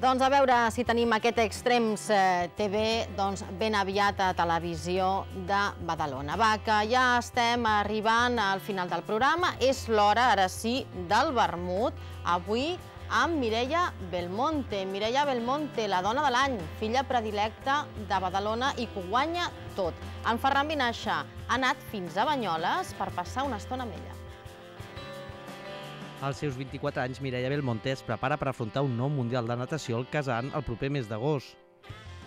Doncs a veure si tenim aquest Extrems TV ben aviat a Televisió de Badalona. Va, que ja estem arribant al final del programa. És l'hora, ara sí, del vermut. Avui amb Mireia Belmonte. Mireia Belmonte, la dona de l'any, filla predilecta de Badalona i que ho guanya tot. En Ferran Vinaixa ha anat fins a Banyoles per passar una estona amb ella. Als seus 24 anys, Mireia Belmonte es prepara per afrontar un nou Mundial de Natació al Kazan el proper mes d'agost.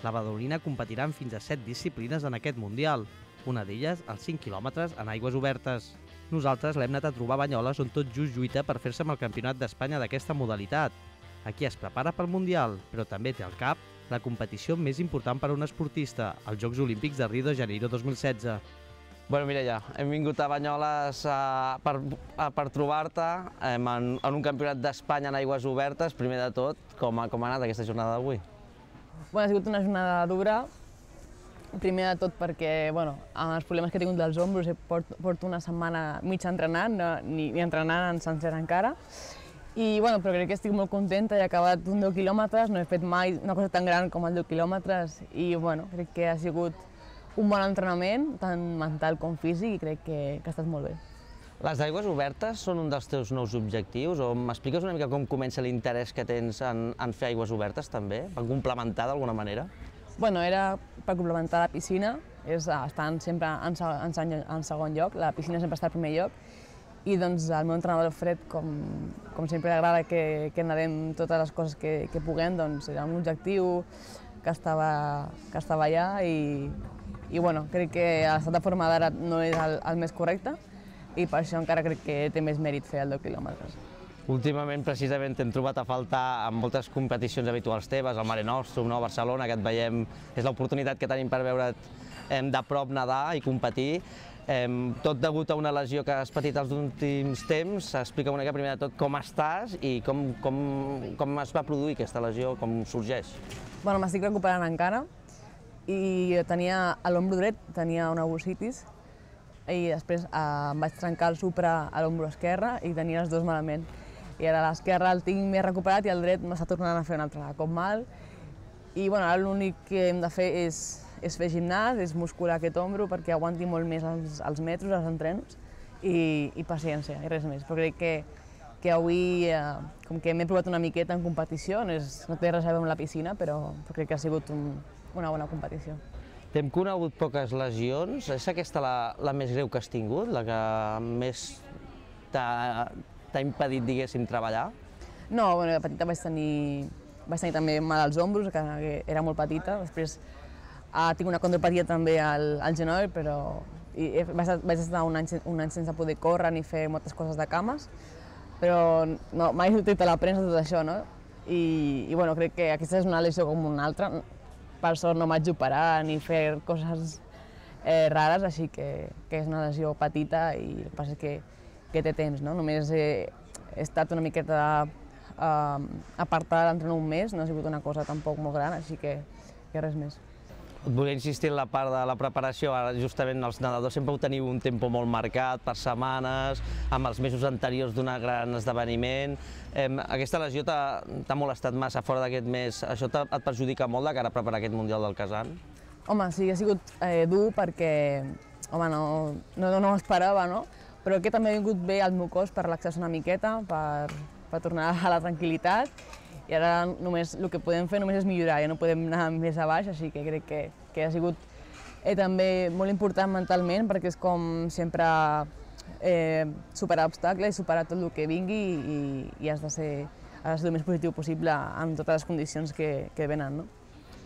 La badalonina competirà en fins a 7 disciplines en aquest Mundial, una d'elles els 5 quilòmetres en aigües obertes. Nosaltres l'hem anat a trobar a Banyoles, on tot just lluita per fer-se amb el Campionat d'Espanya d'aquesta modalitat. Aquí es prepara pel Mundial, però també té al cap la competició més important per a un esportista, els Jocs Olímpics de Rio de Janeiro 2016. Bueno, Mireia, hem vingut a Banyoles per trobar-te en un campionat d'Espanya en aigües obertes. Primer de tot, com ha anat aquesta jornada d'avui? Ha sigut una jornada dura. Primer de tot perquè, amb els problemes que he tingut dels ombros, porto una setmana mitja entrenant, ni entrenant en sencer encara. Però crec que estic molt contenta, he acabat un 10 quilòmetres, no he fet mai una cosa tan gran com el 10 quilòmetres i crec que ha sigut un bon entrenament, tant mental com físic, i crec que ha estat molt bé. Les aigües obertes són un dels teus nous objectius? O m'expliques una mica com comença l'interès que tens en fer aigües obertes també? Per complementar d'alguna manera? Era per complementar la piscina, estan sempre en segon lloc, la piscina sempre està al primer lloc, i el meu entrenador Fred, com sempre agrada que nedem totes les coses que puguem, era un objectiu que estava allà i crec que l'estat de forma d'ara no és el més correcte i per això encara crec que té més mèrit fer el 10 quilòmetres. Últimament, precisament, t'hem trobat a faltar en moltes competicions habituals teves, al Mare Nostrum, a Barcelona, que et veiem, és l'oportunitat que tenim per veure't de prop nedar i competir. Tot degut a una lesió que has patit els últims temps, explica una mica primer de tot com estàs i com es va produir aquesta lesió, com sorgeix. M'estic recuperant encara i tenia a l'ombro dret, tenia una bursitis i després em vaig trencar el supra a l'ombro esquerre i tenia els dos malament. I ara l'esquerre el tinc més recuperat i el dret m'està tornant a fer un altre cop mal. I ara l'únic que hem de fer és fer gimnàs, és muscular aquest ombro perquè aguanti molt més els metros, els entrenos i paciència, i res més. Però crec que avui, com que m'he provat una miqueta en competició, no té res a veure amb la piscina, però crec que ha sigut una bona competició. T'hem conegut poques lesions, és aquesta la més greu que has tingut, la que més t'ha impedit, diguéssim, treballar? No, de petita vaig tenir també mal als ombros, que era molt petita, després tinc una condropatia també al genoll, però vaig estar un any sense poder córrer ni fer moltes coses de cames, però mai he sortit a la premsa tot això, no? I crec que aquesta és una lesió com una altra. Per sort no m'haig d'operar ni fer coses rares, així que és una lesió petita i el que passa és que té temps, no? Només he estat una miqueta apartada d'entrenar un mes, no ha sigut una cosa tampoc molt gran, així que res més. Et volia insistir en la part de la preparació, ara justament els nedadors sempre ho teniu un tempo molt marcat, per setmanes, amb els mesos anteriors d'un gran esdeveniment. Aquesta lesió t'ha molestat massa fora d'aquest mes, això et perjudica molt de cara a preparar aquest Mundial del Kazan? Home, sí, ha sigut dur perquè no m'ho esperava, no? Però que també ha vingut bé al meu cos per relaxar-se una miqueta, per tornar a la tranquil·litat. I ara només el que podem fer és millorar, ja no podem anar més a baix, així que crec que ha sigut també molt important mentalment perquè és com sempre superar obstacles i superar tot el que vingui i has de ser el més positiu possible en totes les condicions que venen, no?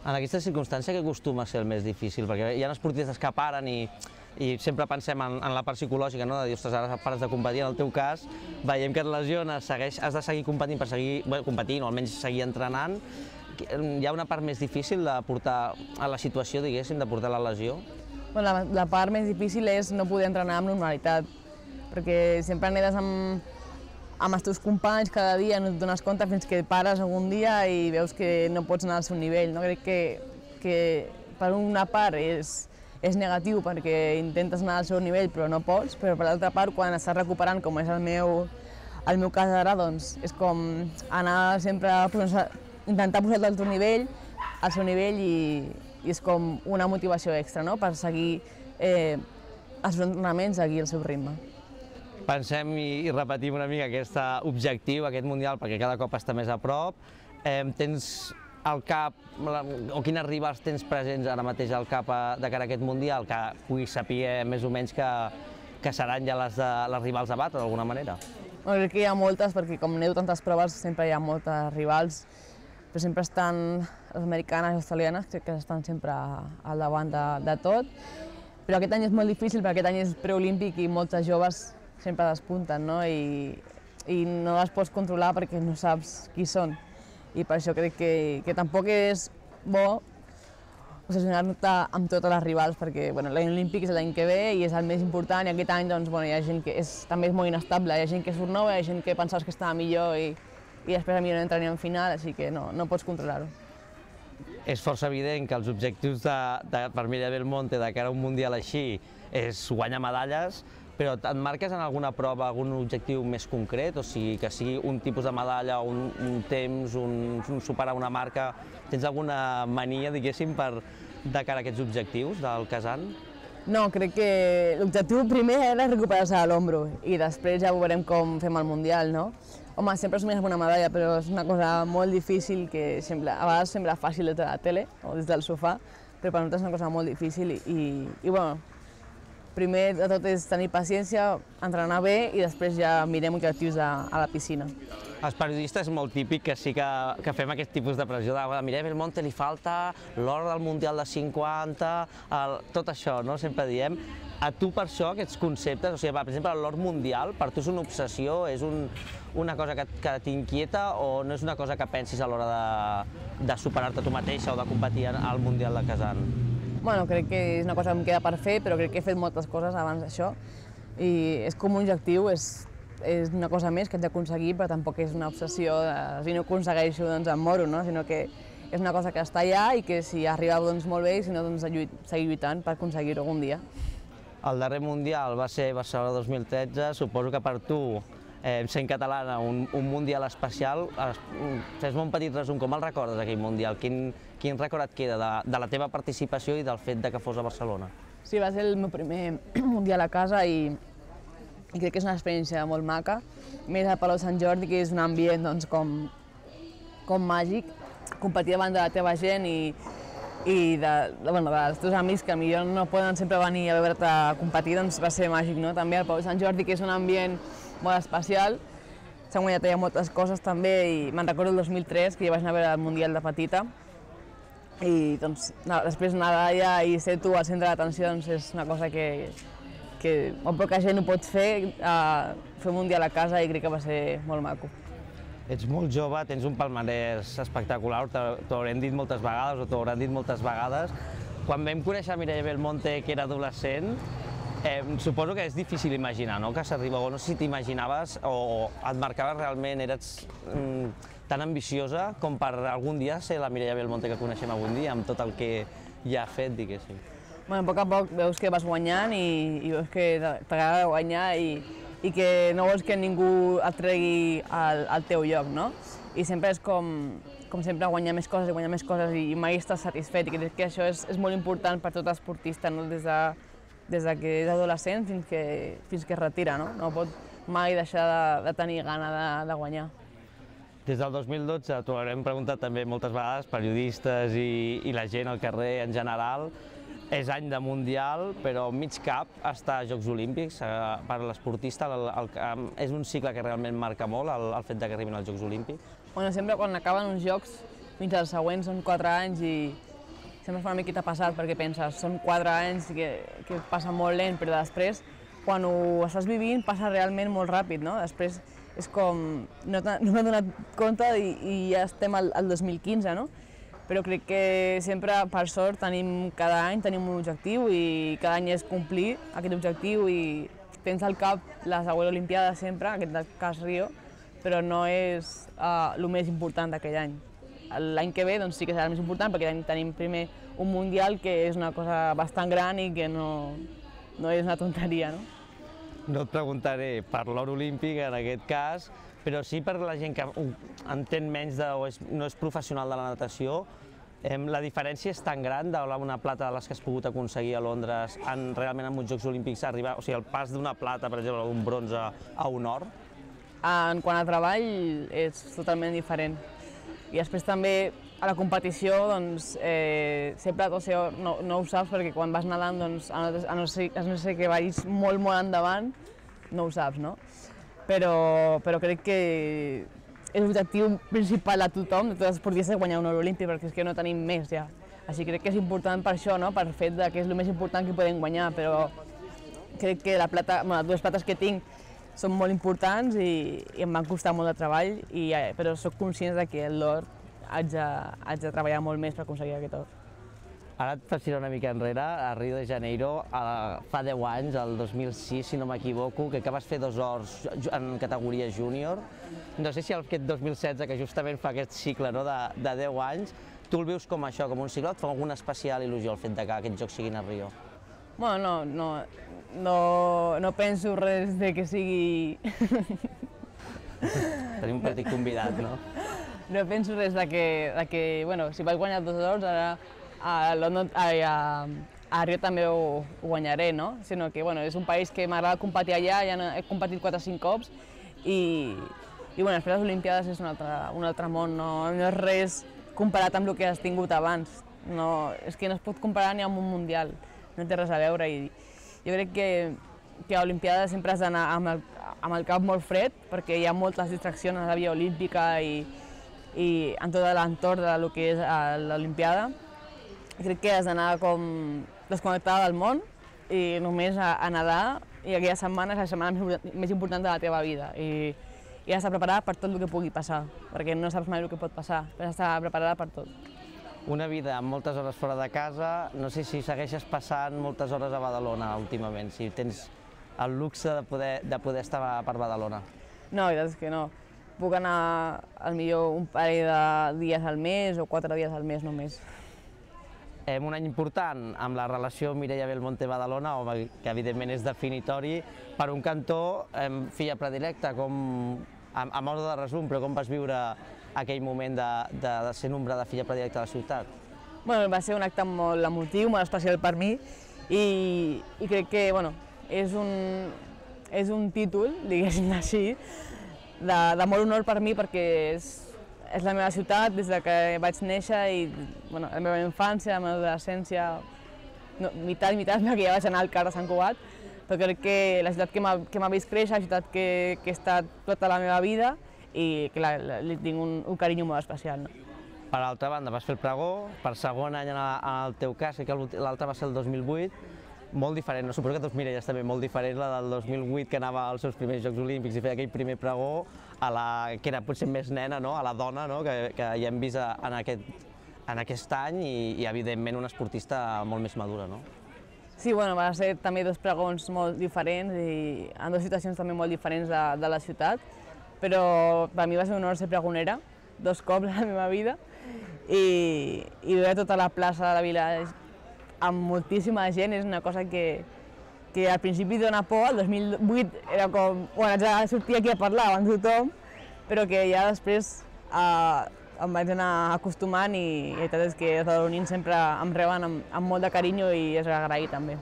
En aquesta circumstància què acostuma a ser el més difícil? Perquè hi ha esportistes que paren i sempre pensem en la part psicològica, no? De dir, ostres, ara pares de competir, en el teu cas, veiem que et lesiones, has de seguir competint per seguir competint o almenys seguir entrenant. Hi ha una part més difícil de portar a la situació, diguéssim, de portar la lesió? La part més difícil és no poder entrenar amb normalitat, perquè sempre nedes amb els teus companys cada dia, no et dones compte fins que pares algun dia i veus que no pots anar al seu nivell. Crec que per una part és negatiu perquè intentes anar al seu nivell però no pots, però per l'altra part quan estàs recuperant, com és el meu cas ara, doncs és com anar sempre intentar posar-lo al seu nivell i és com una motivació extra, no?, per seguir els entrenaments, seguir el seu ritme. Pensem i repetim una mica aquest objectiu, aquest Mundial, perquè cada cop està més a prop. Tens al cap, o quines rivals tens presents ara mateix al cap de cara a aquest Mundial, que puguis saber més o menys que seran ja les rivals a batre, d'alguna manera? Crec que hi ha moltes, perquè com aneu tantes proves sempre hi ha moltes rivals, però sempre estan les americanes i australianes, crec que estan sempre al davant de tot. Però aquest any és molt difícil, perquè aquest any és preolímpic i moltes joves sempre despunten, no? I no les pots controlar perquè no saps qui són. I per això crec que tampoc és bo obsessionar-te amb totes les rivals, perquè l'any olímpic és l'any que ve i és el més important, i aquest any hi ha gent que també és molt inestable, hi ha gent que surt nova, hi ha gent que pensaves que estava millor i després millor no entra ni en final, així que no pots controlar-ho. És força evident que els objectius per Mireia Belmonte de cara a un Mundial així és guanyar medalles, però et marques en alguna prova algun objectiu més concret? O sigui, que sigui un tipus de medalla, un temps, superar una marca... Tens alguna mania, diguéssim, de cara a aquests objectius del Kazan? No, crec que l'objectiu primer era recuperar-se de l'ombro i després ja veurem com fem el Mundial, no? Home, sempre somies amb una medalla, però és una cosa molt difícil que a vegades sembla fàcil des de la tele o des del sofà, però per nosaltres és una cosa molt difícil i primer de tot és tenir paciència, entrenar bé i després ja mirem objectius a la piscina. Els periodistes és molt típic que sí que fem aquest tipus de pressió de Mireia Belmonte li falta l'or del Mundial de 50, tot això, no? Sempre diem. A tu per això aquests conceptes, o sigui, per exemple, l'or mundial, per tu és una obsessió, és una cosa que t'inquieta o no és una cosa que pensis a l'hora de superar-te tu mateixa o de competir al Mundial de Kazan? Bueno, crec que és una cosa que em queda per fer, però crec que he fet moltes coses abans d'això i és com un objectiu, és una cosa més que haig d'aconseguir, però tampoc és una obsessió de si no aconsegueixo doncs em moro, no? Sinó que és una cosa que està allà i que si arriba doncs molt bé i si no doncs seguir lluitant per aconseguir-ho algun dia. El darrer Mundial va ser Barcelona 2013, suposo que per tu, sent catalana, un Mundial especial. Fes-me un petit resum, com el recordes aquell Mundial? Quin record et queda de la teva participació i del fet que fos a Barcelona? Sí, va ser el meu primer Mundial a casa i crec que és una experiència molt maca. Més al Palau Sant Jordi, que és un ambient doncs, com màgic, competir davant de la teva gent i dels teus amics que potser no poden sempre venir a veure't competir, doncs va ser màgic, no? També al Palau Sant Jordi, que és un ambient molt especial, s'han guanyat allà moltes coses també i me'n recordo el 2003, que ja vaig anar a veure el Mundial de petita i doncs després anar allà i ser tu al centre d'atenció doncs és una cosa que molt poca gent ho pot fer un Mundial a casa i crec que va ser molt maco. Ets molt jove, tens un palmarès espectacular, t'ho haurem dit moltes vegades o t'ho hauran dit moltes vegades. Quan vam conèixer Mireia Belmonte, que era adolescent, suposo que és difícil imaginar, no?, que s'arriba, o no sé si t'imaginaves o et marcaves realment, eres tan ambiciosa com per algun dia ser la Mireia Belmonte que coneixem avui dia, amb tot el que ja ha fet, diguéssim. A poc a poc veus que vas guanyant i veus que t'agrada guanyar i que no vols que ningú et tregui al teu lloc, no? I sempre és com sempre guanyar més coses i mai estàs satisfet i crec que això és molt important per tot esportista, no? Des que és adolescent fins que es retira, no? No pot mai deixar de tenir gana de guanyar. Des del 2012 t'ho haurem preguntat també moltes vegades, periodistes i la gent al carrer en general. És any de Mundial, però mig cap està a Jocs Olímpics. Per l'esportista és un cicle que realment marca molt, el fet que arribin als Jocs Olímpics. Sempre quan acaben uns Jocs, fins als següents són 4 anys i sempre fa una miqueta passat perquè penses, són 4 anys que passa molt lent, però després, quan ho estàs vivint, passa realment molt ràpid, no? Després és com, no m'he donat compte i ja estem al 2015, no? Però crec que sempre, per sort, cada any tenim un objectiu i cada any és complir aquest objectiu i tens al cap la següent Olimpiada sempre, en aquest cas Rio, però no és el més important d'aquell any. L'any que ve doncs, sí que serà el més important perquè tenim primer un Mundial que és una cosa bastant gran i que no és una tonteria, no? No et preguntaré per l'or olímpic en aquest cas, però sí per la gent que entén menys o no és professional de la natació, la diferència és tan gran d'una plata de les que has pogut aconseguir a Londres realment en uns Jocs Olímpics arribar, o sigui, el pas d'una plata, per exemple, d'un bronze a un or? En quant a treball és totalment diferent. I després també a la competició doncs, sempre no ho saps perquè quan vas nedant, doncs, a no ser que vagis molt endavant, no ho saps, no? Però crec que és l'objectiu principal de tothom, de tots els esportistes, guanyar un or olímpic, perquè és que no tenim més ja. Així crec que és important per això, no? Per fet que és el més important que podem guanyar, però crec que les dues plates que tinc són molt importants i em van costar molt de treball, però soc conscient que l'or haig de treballar molt més per aconseguir aquest or. Ara et faig una mica enrere, a Rio de Janeiro, fa 10 anys, el 2006, si no m'equivoco, que vas fer 2 ors en categoria júnior. No sé si aquest 2016, que justament fa aquest cicle de 10 anys, tu el vius com això, com un cicle, o et fa alguna especial il·lusió el fet que aquests jocs siguin a Rio? Bueno, no penso res de que sigui... Tenim un petit convidat, no? No penso res de que, bueno, si vaig guanyar 2 ors, ara a Rio també ho guanyaré, no? Sinó que, bueno, és un país que m'agrada competir allà, ja he competit 4 o 5 cops i bueno, després les Olimpiades és un altre món, no és res comparat amb el que has tingut abans. És que no es pot comparar ni amb un mundial, no té res a veure i jo crec que a l'Olimpiada sempre has d'anar amb el cap molt fred perquè hi ha moltes distraccions a la via olímpica i en tot l'entorn del que és l'Olimpiada. Crec que has d'anar com desconnectada del món i només a nedar i aquella setmana és la setmana més important de la teva vida i has de preparar per tot el que pugui passar, perquè no saps mai el que pot passar, però has d'estar preparada per tot. Una vida amb moltes hores fora de casa, no sé si segueixes passant moltes hores a Badalona últimament, si tens el luxe de poder estar per Badalona. No, la veritat és que no. Puc anar potser un parell de dies al mes o 4 dies al mes només. Un any important amb la relació Mireia Belmonte-Badalona, que evidentment és definitori. Per un cantó, filla predilecta, a modo de resum, però com vas viure aquell moment de ser nombrada filla predilecta de la ciutat? Bueno, va ser un acte molt emotiu, molt especial per mi i crec que és un títol, diguéssim així, de molt honor per mi perquè és la meva ciutat des que vaig néixer i la meva infància, la meva adolescència, meitat i meitat, perquè ja vaig anar al CAR de Sant Cugat, però crec que la ciutat que m'ha vist créixer, la ciutat que he estat tota la meva vida i que li tinc un carinyo molt especial. Per altra banda, vas fer el pregó, per segon any en el teu cas, que l'altre va ser el 2008, molt diferent, suposo que tu, Mireia, és també molt diferent, la del 2008, que anava als seus primers Jocs Olímpics i feia aquell primer pregó, que era potser més nena, a la dona, que ja hem vist en aquest any i evidentment una esportista molt més madura. Sí, va ser també 2 pregons molt diferents i en 2 situacions també molt diferents de la ciutat, però per mi va ser un honor ser pregonera, 2 cops a la meva vida, i veure tota la plaça de la vila amb moltíssima gent és una cosa que al principi dona por, el 2008 era com, haig de sortir aquí a parlar amb tothom, però que ja després em vaig anar acostumant i la veritat és que els badalonins sempre em reben amb molt de carinyo i és agraït també.